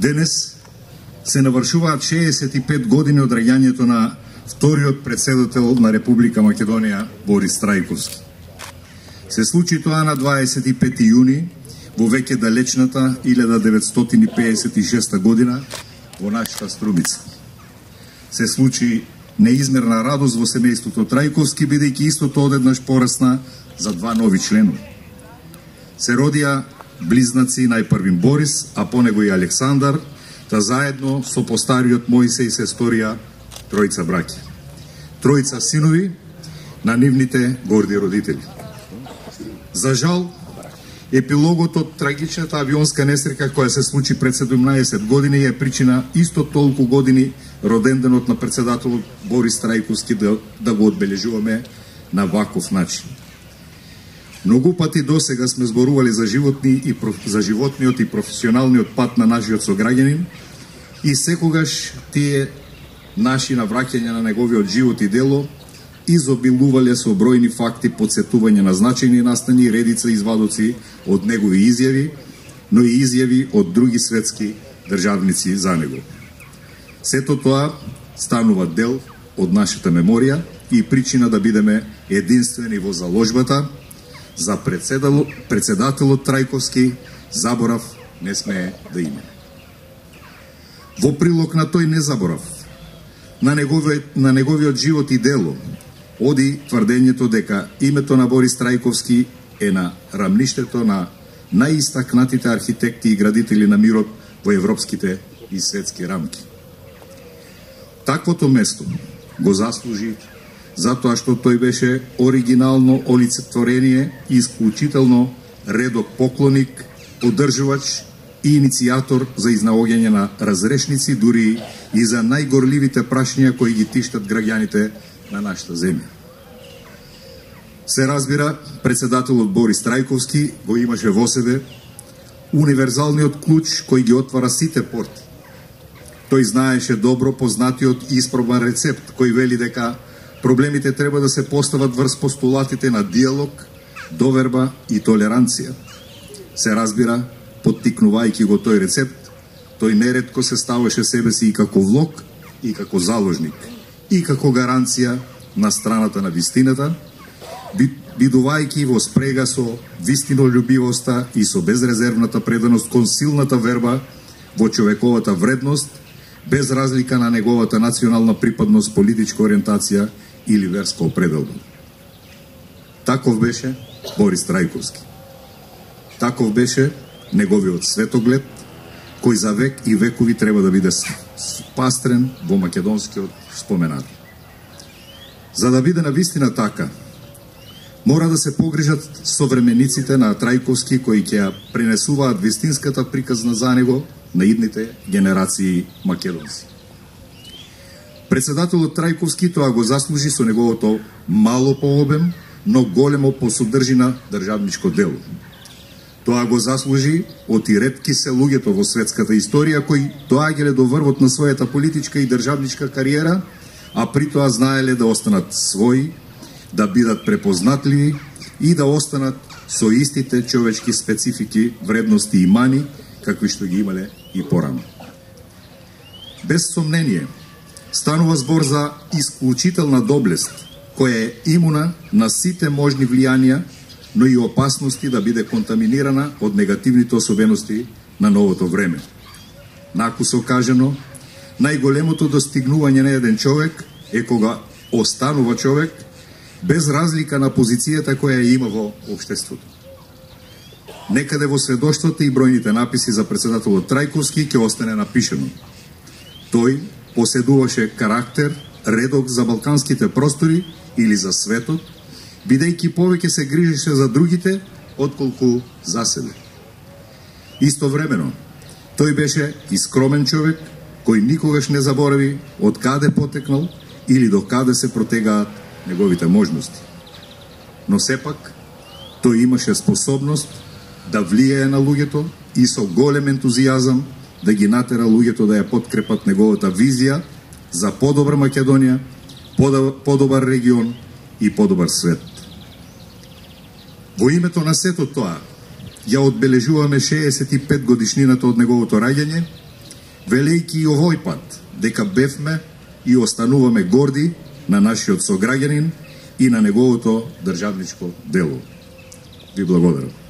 Денес се навршуваат 65 години од раѓањето на вториот председател на Република Македонија Борис Трајковски. Се случи тоа на 25 јуни во веќе далечната 1956 година во нашата Струмица. Се случи неизмерна радост во семејството Трајковски, бидејќи истото одеднаш порасна за два нови членови. Се родија близнаци, најпрвим Борис, а по него и Александар, та заедно со постариот Мојсеј се сторија тројца браќа. Тројца синови на нивните горди родители. За жал, епилогот од трагичната авионска несреќа која се случи пред 17 години е причина исто толку години роденденот на председателот Борис Трајковски да го одбележуваме на ваков начин. Многу пати досега сме зборували за животниот и професионалниот пат на нашиот сограѓанин и секогаш тие наши навраќања на неговиот живот и дело изобилувале со бројни факти, подсетување на значајни настани, редица извадоци од негови изјави, но и изјави од други светски државници за него. Сето тоа станува дел од нашата меморија и причина да бидеме единствени во заложбата за председателот Трајковски заборав не смее да има. Во прилог на тој незаборав, на неговиот живот и дело, оди тврдењето дека името на Борис Трајковски е на рамништето на најистакнатите архитекти и градители на мирот во европските и светски рамки. Таквото место го заслужи затоа што тој беше оригинално олицетворение и исклучително редок поклоник, поддржувач и иницијатор за изнаоѓање на разрешници, дури и за најгорливите прашања кои ги тиштат граѓаните на нашата земја. Се разбира, председателот Борис Трајковски го имаше во себе универзалниот клуч кој ги отвара сите порти. Тој знаеше добро познатиот и испробан рецепт кој вели дека проблемите треба да се постават врз постулатите на диалог, доверба и толеранција. Се разбира, поттикнувајќи го тој рецепт, тој неретко се ставаше себе си и како влог, и како заложник, и како гаранција на страната на вистината, бидувајќи во спрега со вистинолюбивоста и со безрезервната преданост кон силната верба во човековата вредност, без разлика на неговата национална припадност, политичка ориентација или верска определба. Таков беше Борис Трајковски. Таков беше неговиот светоглед, кој за век и векови треба да биде спастрен во македонскиот споменар. За да биде навистина така, мора да се погрижат современиците на Трајковски кои ќе ја пренесуваат вистинската приказна за него на идните генерации македонци. Председателот Трајковски тоа го заслужи со неговото мало по обем, но големо по содржина државничко дело. Тоа го заслужи од и ретки се луѓето во светската историја кои доаѓале до врвот на својата политичка и државничка кариера, а при тоа знаеле да останат своји, да бидат препознатливи и да останат со истите човечки специфики, вредности и мани, какви што ги имале и порано. Без сомнение, станува збор за исклучителна доблест, која е имуна на сите можни влијанија, но и опасности да биде контаминирана од негативните особености на новото време. Накусо кажано, најголемото достигнување на еден човек е кога останува човек без разлика на позицијата која ја има во општеството. Некаде во сведоштвото и бројните написи за председателот Трајковски ќе остане напишено. Тој поседуваше карактер, редок за балканските простори или за светот, бидејќи повеќе се грижеше за другите отколку за себе. Истовремено, тој беше и скромен човек кој никогаш не заборави од каде потекнал или до каде се протегаат неговите можности. Но сепак, тој имаше способност да влијае на луѓето и со голем ентузијазам да ги натера луѓето да ја подкрепат неговата визија за подобра Македонија, подобар регион и подобар свет. Во името на сето тоа, ја одбележуваме 65 годишнината од неговото раѓање велејќи и овој пат дека бевме и остануваме горди на нашиот сограѓанин и на неговото државничко дело. Ви благодарам.